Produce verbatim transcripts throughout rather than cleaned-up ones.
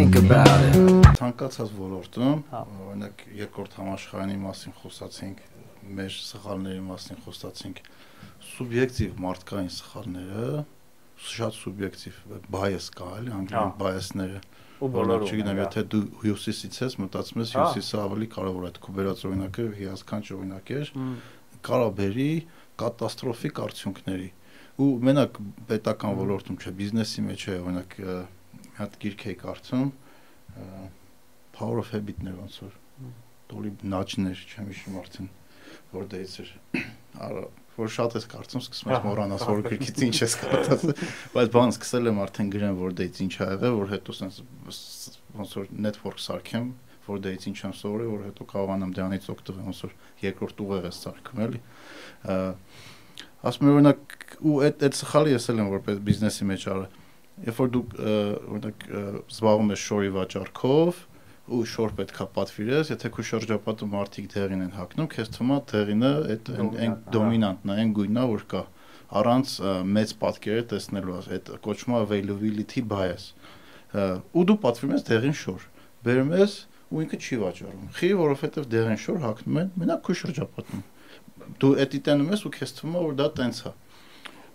think about it. Ցանկացած ոլորտում, օրինակ երկրորդ համաշխարհային մասին խոսացինք, մեր սխալների մասին խոսացինք, սուբյեկտիվ մարդկային սխալները, շատ սուբյեկտիվ bias կա, էլի, անգլերեն bias-ները։ Ու բոլորը չգիտեմ, եթե դու հյուսիսից ես, մտածում ես հյուսիսը ավելի կարևոր է, քո բերած օրինակը հիասքանչ օրինակ էր, կարա բերի կատաստրոֆիկ արդյունքների։ Ու մենակ պետական ոլորտում չէ, բիզնեսի մեջ է, օրինակ մի հատ գիրք էի կարդում, Power of Habit-ներ ոնց որ դոլի նաճներ, չեմ հիշում արդեն որ դեից էր, որ շատ ես կարծում, սկսում ես մոռանաս, որ գրքից ինչ ես կարդացել, բայց բան սկսել եմ արդեն գրեմ, որ դեից ինչ ա եղել, որ հետո ոնց որ network սարքեմ, որ դեից ինչ եմ սովորել, որ հետո կարողանամ դրանից օգտվել, ոնց որ երկրորդ ուղեղ ես սարքում, էլի։ Ասում եմ օրինակ, ու այդ սխալը ես էլ եմ որպես բիզնեսի մեջ արել, երբ որ դու օրինակ զբաղվում ես շորի վաճառքով, ու շոր պետքա պատվիրես, եթե քո շրջապատում մարդիկ դեղին են հագնում, քեզ թվում է դեղինը այդ այն դոմինանտն է, այն գույնն է, որ կա, առանց մեծ պատկերը տեսնելու, այդ կոչվում է availability bias։ Ու դու պատվիրում ես դեղին շոր, բերում ես ու ինքը չի վաճառում։ Խի, որովհետև դեղին շոր հագնում են մենակ քո շրջապատում։ Դու էդի տենում ես ու քեզ թվում է, որ դա տենց է։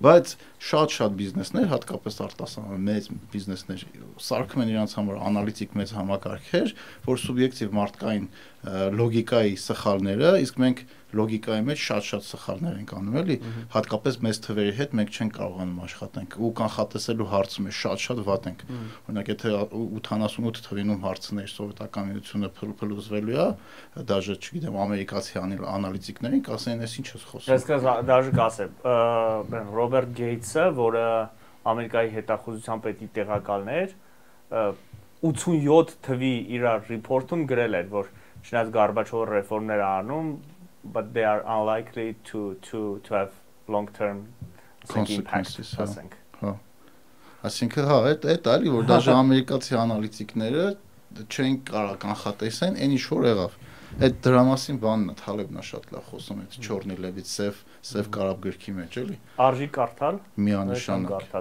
Բայց շատ-շատ բիզնեսներ, հատկապես արտասահման մեծ բիզնեսներ, սարքում են իրենց համար անալիտիկ մեծ համակարգեր, որ սուբյեկտիվ մարդկային լոգիկայի սխալները, իսկ մենք լոգիկայի մեջ շատ-շատ սխալներ ենք անում, էլի, հատկապես մեծ թվերի հետ մենք չենք կարողանում աշխատենք, ու կանխատեսելու հարցում է շատ-շատ վատ ենք։ Օրինակ, եթե ութանասունութ թվինում հարցներ սովետական միությունը փլուզվելու է, դաժե, չգիտեմ, ամերիկացի անալիտիկներին կասեն, ես ինչ ես խոսում։ Ես դաժե կասեմ, Ռոբերտ Գեյթսը, որը Ամերիկայի հետախուզության պետի տեղակալն էր, ութսունյոթ թվի իր ռիփորտում գրել էր, որ չնայած Գորբաչովը ռեֆորմներ անում, but they are unlikely to to to have long term consequences, ասենք։ Հա։ Այսինքն հա, այդ այդ այլի որ դաժե ամերիկացի անալիտիկները չեն կարող կանխատեսեն, այն ինչ որ եղավ։ Այդ դրա մասին բանն է, Թալեբն է շատ լավ խոսում, այդ Չորնի լեվից սև սև կարապ գրքի մեջ, էլի։ Արժի կարդալ։ Միանշանակ։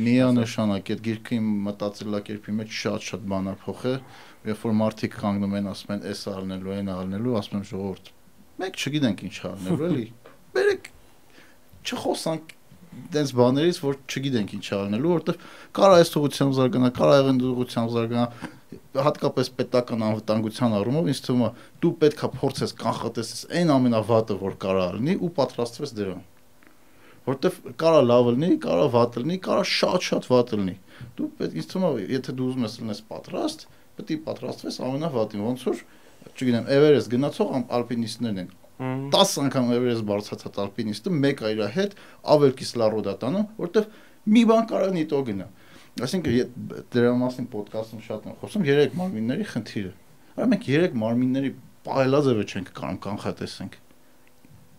Միանշանակ այդ գրքի մտածելակերպի մեջ շատ-շատ բան է փոխել, երբ որ մարդիկ կանգնում են, ասում են, էս առնելու, այն առնելու, ասում եմ ժողովուրդ, մենք չգիտենք ինչ առնելու, էլի։ Բերեք չխոսանք դες բաներից, որ չգիտենք ինչ առնելու, որովհետև կարա այս ուղղությամբ զարգանա, կարա այն ուղղությամբ զարգանա, հատկապես պետական անվտանգության առումով ինձ թվում է դու պետքա փորձես կանխատեսես այն ամենավատը, որ կարա լինի ու պատրաստվես դրան։ Որովհետև կարա լավ լինի, կարա վատ լինի, կարա շատ-շատ վատ լինի։ Դու պետք ինձ թվում է, եթե դու ուզում ես լինես պատրաստ, պետք է պատրաստվես ամենավատին, ոնց որ, չգիտեմ, Էվերեստ գնացող ալպինիստներն են։ տասը անգամ Էվերեստ բարձրացած ալպինիստը մեկը իր հետ ավել կիսլարոդ է տանում, որովհետև մի բան կարող է նիտո գնա։ Այսինքն դրա մասին ոդկասթում շատ եմ խոսում երեք մարմինների խնդիրը։ Արա մենք երեք մարմինների պահելաձևը չենք կարող կանխատեսենք։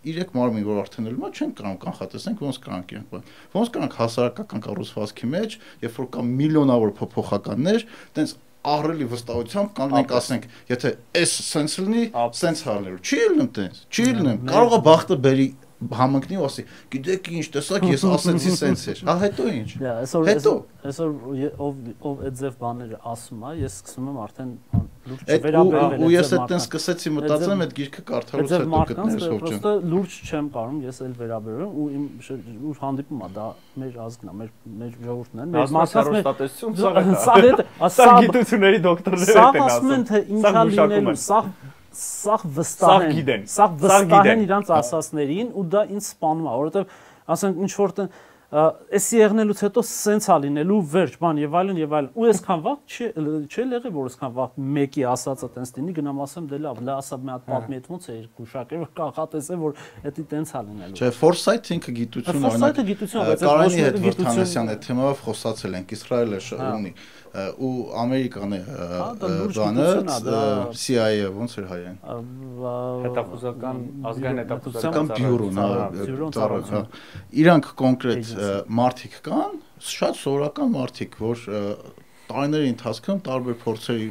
Երեք մարմին, որ արդեն ելնում է, չենք կարող կանխատեսենք ոնց կրանք են։ Ոնց կրանք հասարակական կառուցվածքի մեջ, երբ որ կա միլիոնավոր փոփոխականներ, տենց ահռելի վստահությամբ կանգնենք ասենք, եթե այս սենս լինի, սենս հալնելու։ Չի լինում տենց, չի լինում։ Կարող է բախտը բերի համընկնի ու ասի, գիտեք ինչ, տեսակ ես ասեցի սենս էր։ Հա հետո ինչ։ Հետո այսօր ով ով այդ ձև բաները ասում է, ես սկսում եմ արդեն լուրջ չվերաբերվել։ Ու ես այդտեն սկսեցի մտածեմ այդ գիրքը կարդալուց հետո գտնես հոճը։ Պրոստը լուրջ չեմ կարող, ես էլ վերաբերում ու իմ ուր հանդիպում է, դա մեր ազգն է, մեր մեր ժողովուրդն է, մեր մասնատեսություն սա է։ Սա գիտությունների դոկտորները են ասում։ Սա ասում են թե ինչա լինելու, սա սա վստահ են, սա վստահ են իրանց ասածներին ու դա ինձ սպանում է, որովհետև ասենք ինչ որ էսի եղնելուց հետո սենց է լինելու վերջ բան եւ այլն եւ այլն ու այսքան վաղ չի չի եղել որ այսքան վաղ մեկի ասածը տենց լինի գնամ ասեմ դե լավ լա ասա մի հատ պատմի այդ ոնց է գուշակել որ կանխատեսեմ որ դա տենց է լինելու չէ foresight ինքը գիտություն օրինակ գիտություն բայց Կարանի հետ Վրթանեսյան այդ թեմայով խոսացել ենք Իսրայելը ունի ու Ամերիկան է բանը C I A ոնց էր հայերեն հետախուզական ազգային հետախուզական բյուրոն իրանք կոնկրետ մարդիկ կան շատ սովորական մարդիկ որ տարիների ընթացքում տարբեր փորձերի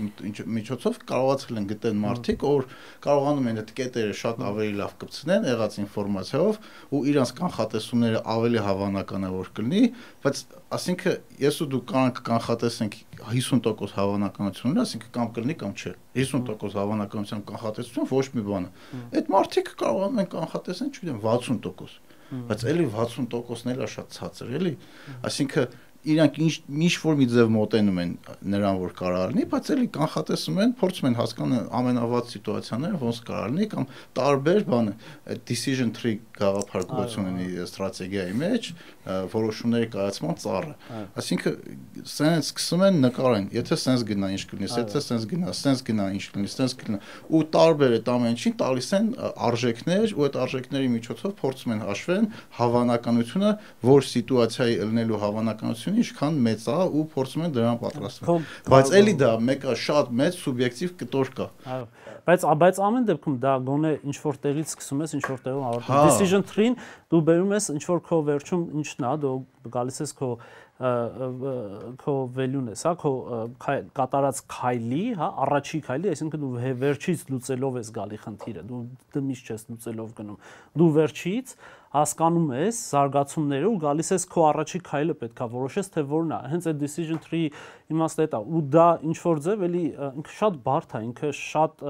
միջոցով կարողացել են գտնել մարդիկ, որ կարողանում են այդ կետերը շատ ավելի լավ կպցնեն եղած ինֆորմացիայով ու իրանց կանխատեսումները ավելի հավանականավոր կլինի, բայց ասինքն ես ու դու կարող կանխատեսենք հիսուն տոկոս հավանականություններ, ասինքն կամ կլինի կամ չէ։ հիսուն տոկոս հավանականության կանխատեսություն ոչ մի բան է։ Այդ մարդիկ կարողանում են կանխատեսեն, չգիտեմ, վաթսուն տոկոս։ Բայց էլի վաթսուն տոկոսն էլ է շատ ցածր, էլի։ Այսինքն իրանք ինչ որ մի ձև մոտենում են նրան, որ կարող լինի, բայց էլի կանխատեսում են, փորձում են հասկանալ ամենավատ սիտուացիաները ոնց կարող լինի կամ տարբեր բանը decision tree գաղափար ունի ստրատեգիայի մեջ, որոշումների կայացման ծառը։ Այսինքն սենց սկսում են նկարեն, եթե սենց գնա ինչ կլինի, եթե սենց գնա, սենց գնա ինչ կլինի, սենց կլինի, ու տարբեր այդ ամենին տալիս են արժեքներ, ու այդ արժեքների միջոցով փորձում են հաշվեն հավանականությունը, որ սիտուացիայի ելնելու հավանականությունը ինչքան մեծ է ու փորձում են դրան պատրաստվել։ Բայց էլի դա մեկը շատ մեծ սուբյեկտիվ կտոր կա։ Այո, բայց բայց ամեն դեպքում դա գոնե ինչ որ տեղից սկսում ես, ինչ որ տեղում ավարտում։ Decision tree-ին դու բերում ես ինչ որ քո վերջում ինչն է, դու գալիս ես քո քո value-ն ես, հա, քո կատարած քայլի, հա, առաջի քայլի, այսինքն դու վերջից լուծելով ես գալի խնդիրը, դու դու միշտ չես լուծելով գնում։ Դու վերջից հասկանում ես զարգացումները ու գալիս ես քո առաջի քայլը պետքա որոշես թե որն է։ Հենց այդ decision tree իմաստը դա ու դա ինչ որ ձև էլի ինքը շատ բարդ է, ինքը շատ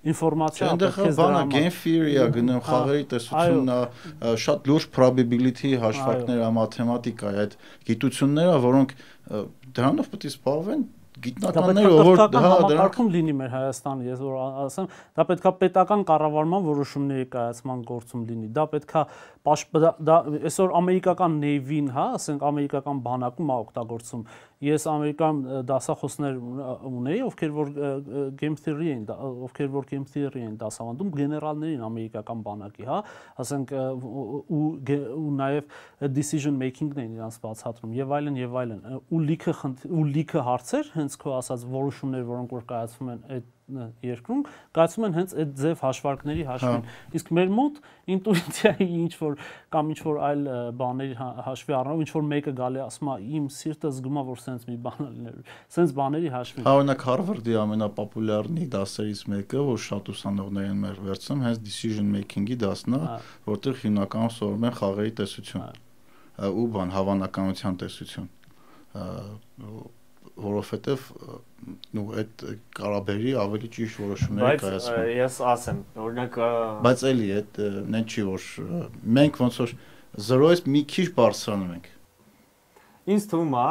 ինֆորմացիա պետք է բանը game theory-ա գնում, խաղերի տեսությունն է, շատ լուրջ probability հաշվարկներ, մաթեմատիկա է, այդ գիտությունները, որոնք դրանով պետք է զբաղվեն գիտնականները, որ դա համակարգում լինի մեր Հայաստանը, ես որ ասեմ, դա պետքա պետական կառավարման որոշումների կայացման գործում լինի։ Դա պետքա դա այսօր ամերիկական Navy-ն, հա, ասենք ամերիկական բանակում է օգտագործում։ Ես ամերիկան դասախոսներ ունեի, ովքեր որ game theory են, ովքեր որ game theory են դասավանդում, գեներալներին ամերիկական բանակի, հա, ասենք ու ու նաև decision making-ն են իրանց բացատրում եւ այլն եւ այլն։ Ու լիքը ու լիքը հարցեր հենց քո ասած որոշումներ, որոնք որ կայացվում են այդ երկրում, կայացում են հենց այդ ձև հաշվարկների հաշվին։ Իսկ մեր մոտ ինտուիցիայի ինչ որ կամ ինչ որ այլ բաների հաշվի առնելով, ինչ որ մեկը գալի ասում է իմ սիրտը զգում է, որ սենց մի բան լինելու, սենց բաների հաշվին։ Օրինակ Harvard-ի ամենապոպուլյարնի դասերից մեկը, որ շատ ուսանողներ են մեր վերցնում, հենց decision making-ի դասն է, որտեղ հիմնականում սովորում են խաղերի տեսություն ու բան հավանականության տեսություն, որովհետև նու այդ կարաբերի ավելի ճիշտ որոշումներ կայացվում։ Բայց ես ասեմ, օրինակ բայց էլի այդ նեն չի որ մենք ոնց որ զրոյից մի քիչ բարձրանում ենք։ Ինձ թվում է,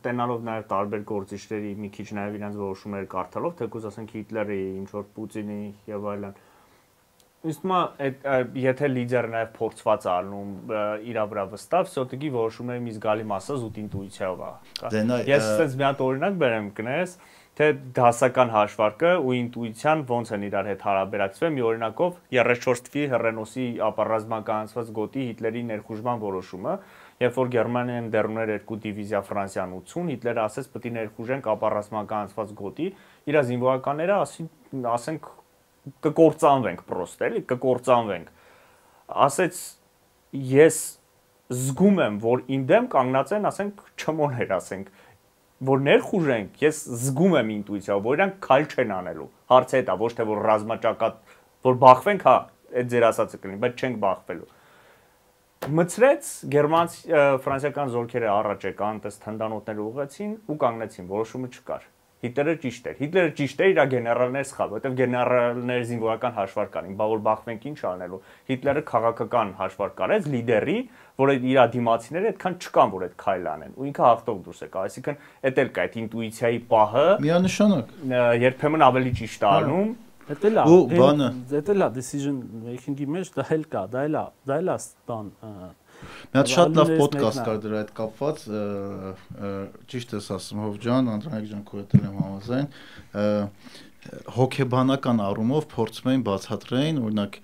տենալով նաև տարբեր գործիչների մի քիչ նաև իրենց որոշումները կարդալով, թեկուզ ասենք Հիտլերի, ինչ որ Պուտինի եւ այլն։ Ինձ թվում է, եթե լիդերը նաև փորձված է ալնում իր վրա վստահ, всё-таки որոշումների մի զգալի մասը զուտ ինտուիցիայով է։ Ես ասես մի հատ օրինակ բերեմ կներես, թե դասական հաշվարկը ու ինտուիցիան ոնց են իրար հետ հարաբերակցվել, մի օրինակով երեսունչորս թվի հեռենոսի ապառազմականացված գոտի Հիտլերի ներխուժման որոշումը, երբ որ Գերմանիան դեռուներ երկու դիվիզիա Ֆրանսիան ութուն, Հիտլերը ասեց պետք է ներխուժենք ապառազմականացված գոտի, իր զինվորականները ասենք կկործանվենք պրոստ, էլի, կկործանվենք։ Ասեց ես զգում եմ, որ իմ դեմ կանգնած են, ասենք չմոներ, ասենք, որ ներխուժենք, ես զգում եմ ինտուիցիայով, որ իրանք քայլ չեն անելու։ Հարցը դա ոչ թե որ ռազմաճակատ, որ բախվենք, հա, այդ ձեր ասածը կլինի, բայց չենք բախվելու։ Մցրեց գերմանց ֆրանսիական զորքերը առաջ եկան, տես թնդանոթները ուղղեցին ու կանգնեցին, որոշումը չկար։ Հիտլերը ճիշտ էր։ Հիտլերը ճիշտ էր, իր գեներալները սխալ, որովհետև գեներալները զինվորական հաշվարկ անին, բա որ բախվենք ինչ անելու։ Հիտլերը քաղաքական հաշվարկ արեց լիդերի, որ իր դիմացիները այդքան չկան, որ այդ քայլ անեն, ու ինքը հաղթող դուրս եկավ։ Այսինքն, էդ էլ կա այդ ինտուիցիայի պահը։ Միանշանակ։ Երբեմն ավելի ճիշտ է անում։ Դա էլ է, դա էլ է decision making-ի մեջ դա էլ կա, դա էլ է, դա էլ է բան։ Մի հատ շատ լավ ոդկաստ կար դրա հետ կապված, ճիշտ ես ասում Հով ջան, Անդրանիկ ջան, քո հետ եմ համաձայն, հոգեբանական առումով փորձում էին բացատրեին, օրինակ,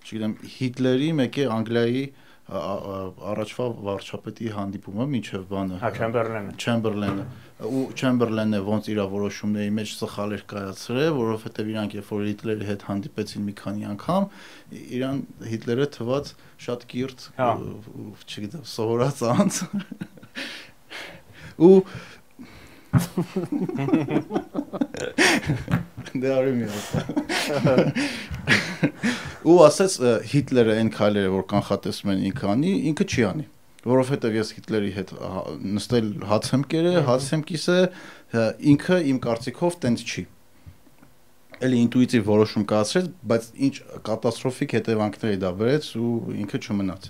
չգիտեմ, Հիտլերի մեկի Անգլիայի առաջվա վարչապետի հանդիպումը մինչև բանը Չեմբերլենը Չեմբերլենը ու Չեմբերլենը ոնց իր որոշումների մեջ սխալ էր կայացրել, որովհետև իրանք երբ որ Հիտլերի հետ հանդիպեցին մի քանի անգամ, իրան Հիտլերը թված շատ կիրթ, չգիտեմ, սովորած անձ ու Դե արի մի հատ։ Ու ասեց Հիտլերը այն քայլերը, որ կանխատեսում են ինքը անի, ինքը չի անի, որովհետև ես Հիտլերի հետ նստել հաց եմ կերել, հաց եմ կիսել, ինքը իմ կարծիքով տենց չի։ Էլի ինտուիտիվ որոշում կայացրեց, բայց ինչ կատաստրոֆիկ հետևանքների դա բերեց ու ինքը չմնաց։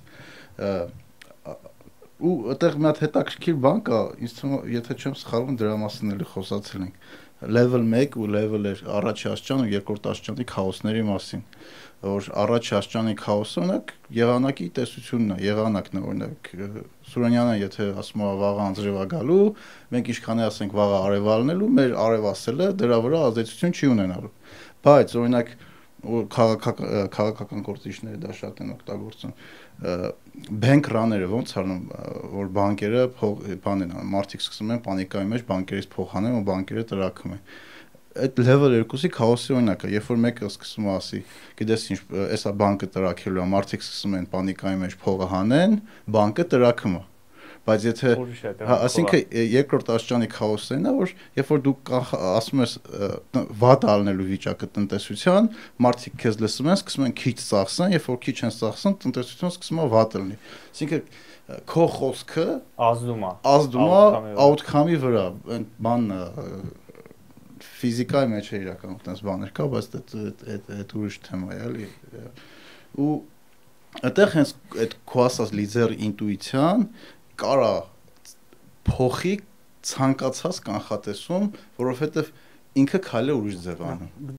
Ու այդտեղ մի հատ հետաքրքիր բան կա, ինձ թվում է, եթե չեմ սխալվում, դրա մասին էլի խոսացել ենք։ Level մեկ ու level առաջի աստիճան ու երկրորդ աստիճանի քաոսների մասին, որ առաջի աստիճանի քաոսը օրինակ եղանակի տեսությունն է, եղանակն է, օրինակ Սուրենյանը եթե ասում է վաղը անձրև է գալու, մենք ինչքան է ասենք վաղը արև ալնելու, մեր արև ասելը դրա վրա ազդեցություն չի ունենալու։ Բայց օրինակ քաղաքական գործիչները դա շատ են օգտագործում։ Bank run-երը ոնց անում, որ բանկերը բան են անում, մարդիկ սկսում են պանիկայի մեջ բանկերից փող հանեն ու բանկերը տրաքում են։ Այդ level երկուսի քաոսի օրինակը, երբ որ մեկը սկսում է ասի, գիտես ինչ, էսա բանկը տրաքելու է, մարդիկ սկսում են պանիկայի մեջ փողը հանեն, բանկը տրաքում է։ Բայց եթե, ասինքն երկրորդ աստիճանի քաոսն է, որ երբ որ դու ասում ես վատ ալնելու վիճակը տնտեսության, մարդիկ քեզ լսում են, սկսում են քիչ ծախսեն, երբ որ քիչ են ծախսեն, տնտեսությունը սկսում է վատ լինի։ Ասինքն քո խոսքը ազդում է, ազդում է outcome-ի վրա, այն բանն ֆիզիկայի մեջ է իրականում այդպես բաներ կա, բայց այդ ուրիշ թեմա է, էլի։ Ու այդտեղ հենց այդ քո ասած լիդեր ինտուիցիան կարա փոխի ցանկացած կանխատեսում, որովհետև ինքը քայլը ուրիշ ձև անում։